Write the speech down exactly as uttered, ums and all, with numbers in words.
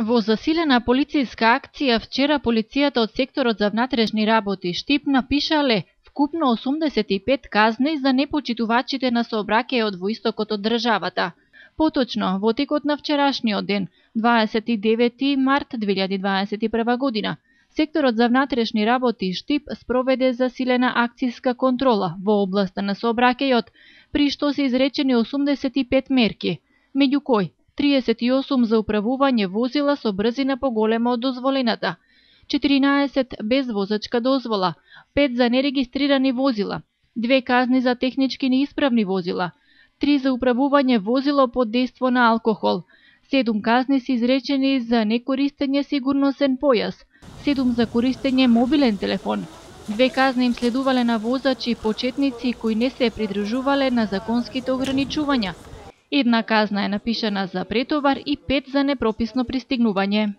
Во засилена полициска акција вчера полицијата од секторот за внатрешни работи Штип напишале вкупно осумдесет и пет казни за непочитувачите на сообраќајот во истокот од државата. Поточно, во текот на вчерашниот ден, дваесет и девети март две илјади дваесет и прва година, секторот за внатрешни работи Штип спроведе засилена акциска контрола во областа на сообраќајот, при што се изречени осумдесет и пет мерки, меѓу кои триесет и осум за управување возила со брзина поголема од дозволената, четиринаесет без возачка дозвола, пет за нерегистрирани возила, две казни за технички неисправни возила, три за управување возило под дејство на алкохол, седум казни се изречени за некористење сигурносен појас, седум за користење мобилен телефон, две казни им следувале на возачи почетници кои не се придржувале на законските ограничувања, една казна е напишана за претовар и пет за непрописно пристигнување.